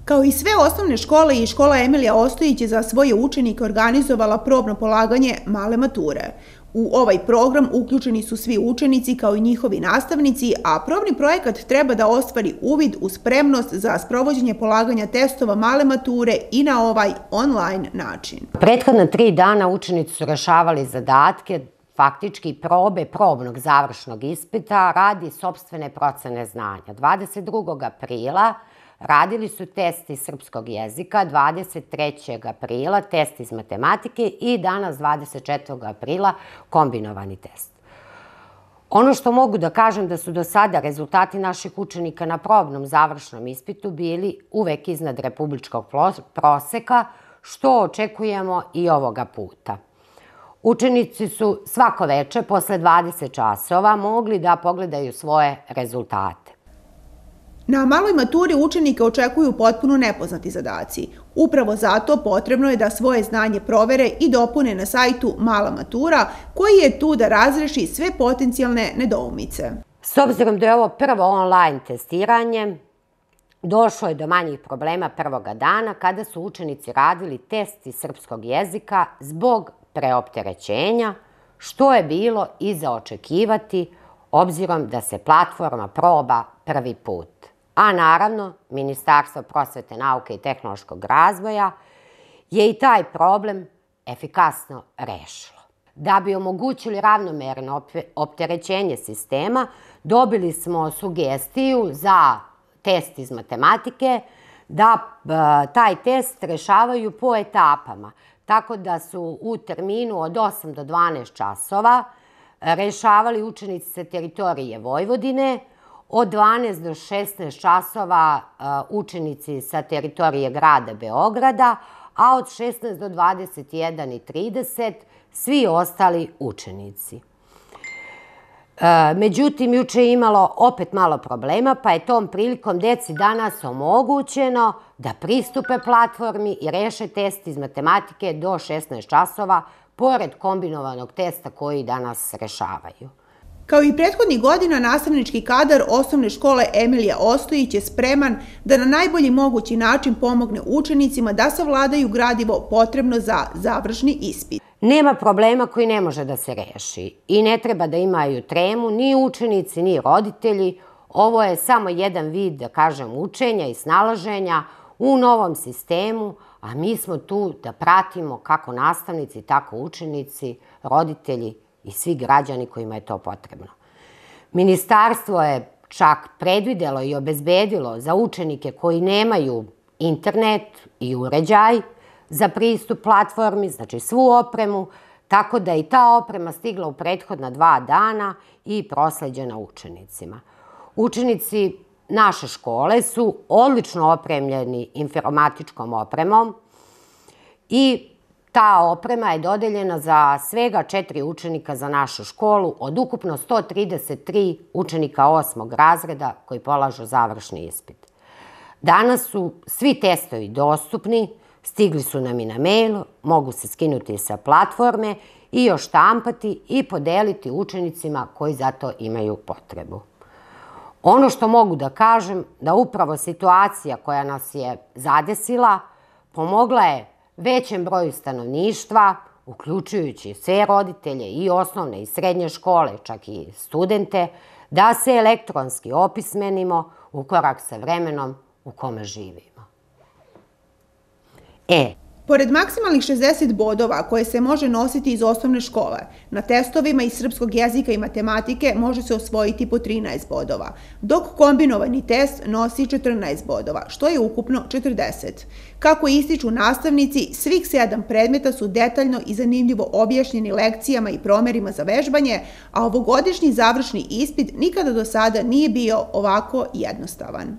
Kao i sve osnovne škole i škola Emilija Ostojić je za svoje učenike organizovala probno polaganje male mature. U ovaj program uključeni su svi učenici kao i njihovi nastavnici, a probni projekat treba da ostvari uvid u spremnost za sprovođenje polaganja testova male mature i na ovaj online način. Prethodna 3 dana učenici su rešavali zadatke, faktički probe probnog završnog ispita radi sopstvene procene znanja. 22. aprila radili su test iz srpskog jezika, 23. aprila test iz matematike i danas 24. aprila kombinovani test. Ono što mogu da kažem da su do sada rezultati naših učenika na probnom završnom ispitu bili uvek iznad republičkog proseka, što očekujemo i ovoga puta. Učenici su svako veče posle 20 časova mogli da pogledaju svoje rezultate. Na maloj maturi učenike očekuju potpuno nepoznati zadaci. Upravo zato potrebno je da svoje znanje provere i dopune na sajtu Mala matura, koji je tu da razreši sve potencijalne nedoumice. S obzirom da je ovo prvo online testiranje, došlo je do manjih problema prvoga dana kada su učenici radili test iz srpskog jezika zbog preopterećenja, što je bilo i za očekivati obzirom da se platforma proba prvi put. A naravno, Ministarstvo prosvete, nauke i tehnološkog razvoja je i taj problem efikasno rešilo. Da bi omogućili ravnomerno opterećenje sistema, dobili smo sugestiju za test iz matematike da taj test rešavaju po etapama, tako da su u terminu od 8 do 12 časova rešavali učenici sa teritorije Vojvodine, od 12 do 16 časova učenici sa teritorije grada Beograda, a od 16 do 21:30 svi ostali učenici. Međutim, juče je imalo opet malo problema, pa je tom prilikom deci danas omogućeno da pristupe platformi i reše test iz matematike do 16 časova, pored kombinovanog testa koji danas rešavaju. Kao i prethodnih godina, nastavnički kadar osnovne škole Emilija Ostojić je spreman da na najbolji mogući način pomogne učenicima da savladaju gradivo potrebno za završni ispit. Nema problema koji ne može da se reši i ne treba da imaju tremu ni učenici, ni roditelji. Ovo je samo jedan vid, da kažem, učenja i snalaženja u novom sistemu, a mi smo tu da pratimo kako nastavnici, tako učenici, roditelji i svi građani kojima je to potrebno. Ministarstvo je čak predvidelo i obezbedilo za učenike koji nemaju internet i uređaj za pristup platformi, znači svu opremu, tako da je i ta oprema stigla u prethodna 2 dana i prosleđena učenicima. Učenici naše škole su odlično opremljeni informatičkom opremom i ta oprema je dodeljena za svega 4 učenika za našu školu od ukupno 133 učenika 8. razreda koji polažu završni ispit. Danas su svi testovi dostupni, stigli su nam i na mail, mogu se skinuti sa platforme i oštampati i podeliti učenicima koji za to imaju potrebu. Ono što mogu da kažem, da upravo situacija koja nas je zadesila pomogla je većem broju stanovništva, uključujući sve roditelje i osnovne i srednje škole, čak i studente, da se elektronski opismenimo u korak sa vremenom u kome živimo. Pored maksimalnih 60 bodova koje se može nositi iz osnovne škole, na testovima iz srpskog jezika i matematike može se osvojiti po 13 bodova, dok kombinovani test nosi 14 bodova, što je ukupno 40. Kako ističu nastavnici, svih 7 predmeta su detaljno i zanimljivo objašnjeni lekcijama i promerima za vežbanje, a ovogodišnji završni ispit nikada do sada nije bio ovako jednostavan.